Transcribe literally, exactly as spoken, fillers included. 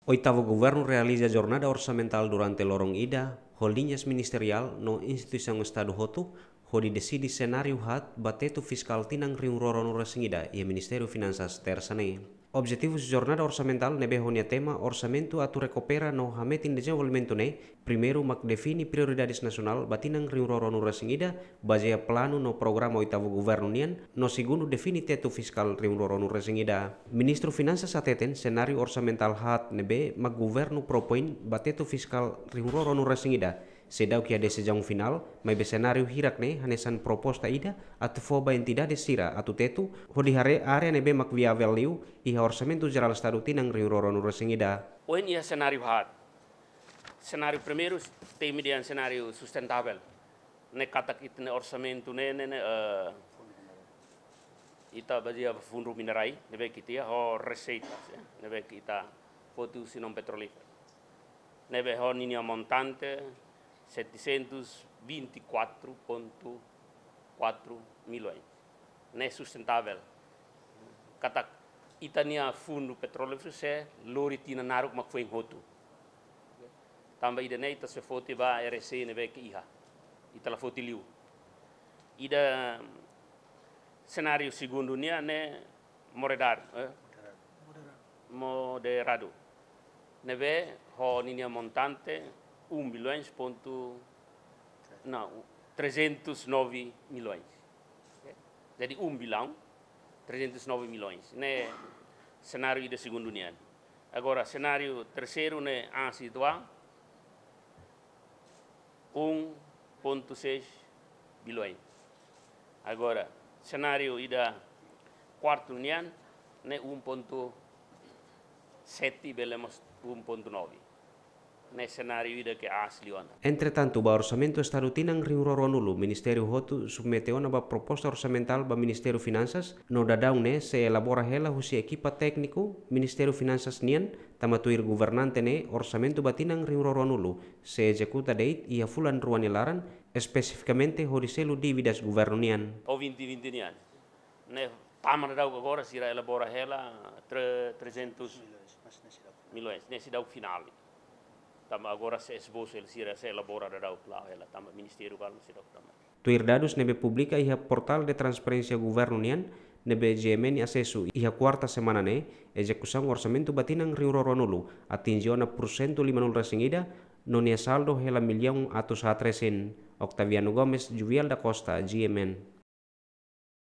Oitavu Governu realiza jornada orsamentál durante loron ida, ho liñas ministeriál no instituisaun Estadu hotu, hodi deside senáriu haat ba tetu fiskál tinan rihun rua ruanulu resin ida iha Ministériu Finansas, Tersa ne'e. Objetivu jornada orsamentál ne'ebé ho nia tema orsamentu atu rekupera no hametin dezenvolvimentu ne'e, primeiru mak define prioridades nasionál ba tinan rihun rua ruanulu resin ida, bazeia planu no programa oitavu Governu nian, no segundu define tetu fiskál rihun rua ruanulu resin ida. Ministru Finansas hateten senáriu orsamentál haat ne'ebé mak Governu propoin ba tetu fiskál rihun rua ruanulu resin ida seidauk iha desizaun finál, maibé senáriu hirak ne'e hanesan proposta ida atu fó ba entidade sira atu tetu, hodi haree área ne'ebé mak viavel liu iha Orsamentu Jerál Estadu tinan rihun rua ruanulu resin ida. Ohin iha senáriu haat. Senáriu primeiru, temi dehan senáriu sustentável. Ne'e katak ita-nia orsamentu ne'e, ne'e, ne'e, eh, ita bazeia ba fundu minerais, ne'ebé ke ita iha ho reseitas, ya, ne'ebé ke ita foti husi non-petrolíferu. Ne'ebé ho ninia montante setecentos vinte e quatro ponto quatro milhões. Ne'e sustentável. Katak ita-nia fundu petrolíferu sei lori tinan naruk mak foin hotu. Tanba ida-ne'e ita sei foti ba R E C ne'ebé ke iha. Ita la foti liu. Ida senáriu segundu nian ne'e moderadu, eh? Moderadu. Ne'ebé ho ninia montante um bilhões ponto, não, trezentos e nove milhões. Jadi um bilhão trezentos e nove milhões. Ne'e senáriu ida segundu nian. Agora, senáriu terseiru ne'e aas uitoan, um ponto seis bilhões. Agora, senáriu ida kuartu nian ne'e um ponto sete, bele mós um ponto nove. Ne'e senáriu ida ke aas liu ona. Entretantu, ba Orsamentu Estadu tinan rihun rua ruanulu, ministériu hotu submete ona ba proposta orsamentál ba Ministériu Finansas, no daudaun ne'e sei elabora hela husi ekipa tékniku Ministériu Finansas nian, tanba tuir governante ne'e orsamentu ba tinan rihun rua ruanulu sei ezekuta de'it iha fulan rua nia laran, espesifikamente hodi selu dívidas governu nian. Ou vinte vinte nian. Ne'e tama daudaun agora sira elabora hela tre-, trezentos milhões. Ne'e seidauk finál. Tanba agora sei esbosu hela, sira sei elabora daudaun klaru hela, tanba ministériu balu seidauk tama. Tuir dadus ne'ebé publika iha Portal de Transparénsia Governu nian, ne'ebé G M N asesu iha kuarta semana ne'e, ezekusaun orsamentu ba tinan rihun rua ruanulu atinje ona pursentu limanulu resin ida, no nia saldu hela millaun atus haat resin. Octaviano Gomes, Juvial da Costa, G M N.